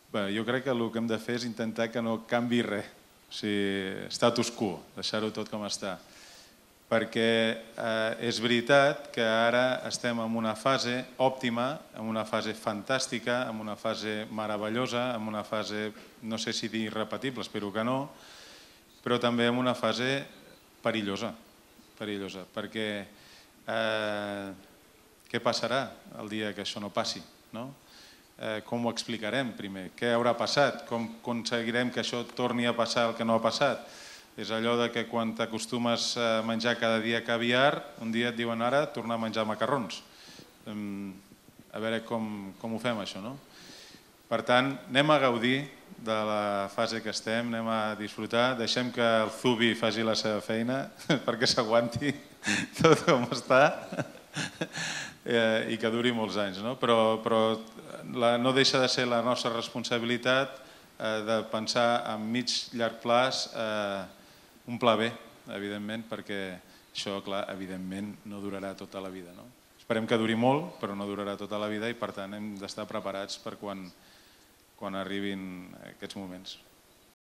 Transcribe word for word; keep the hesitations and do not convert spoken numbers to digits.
Bé, jo crec que el que hem de fer és intentar que no canvi res, o sigui, status quo, deixar-ho tot com està. Perquè eh, és veritat que ara estem en una fase òptima, en una fase fantàstica, en una fase meravellosa, en una fase, no sé si dir irrepetible, espero que no, però també en una fase perillosa, perillosa, perquè eh, què passarà el dia que això no passi, no? Eh, com ho explicarem primer? Què haurà passat? Com aconseguirem que això torni a passar el que no ha passat? És allò de que quan t'acostumes a menjar cada dia caviar, un dia et diuen ara tornar a menjar macarrons. A veure com, com ho fem això, no? Per tant, anem a gaudir de la fase que estem, anem a disfrutar, deixem que el Zubi faci la seva feina perquè s'aguanti tot com està i que duri molts anys, no? Però, però la, no deixa de ser la nostra responsabilitat eh, de pensar a mig llarg plaç eh, un pla B, evidentment, perquè això, clar, evidentment no durarà tota la vida, no? Esperem que duri molt, però no durarà tota la vida i, per tant, hem d'estar preparats per quan, quan arribin aquests moments.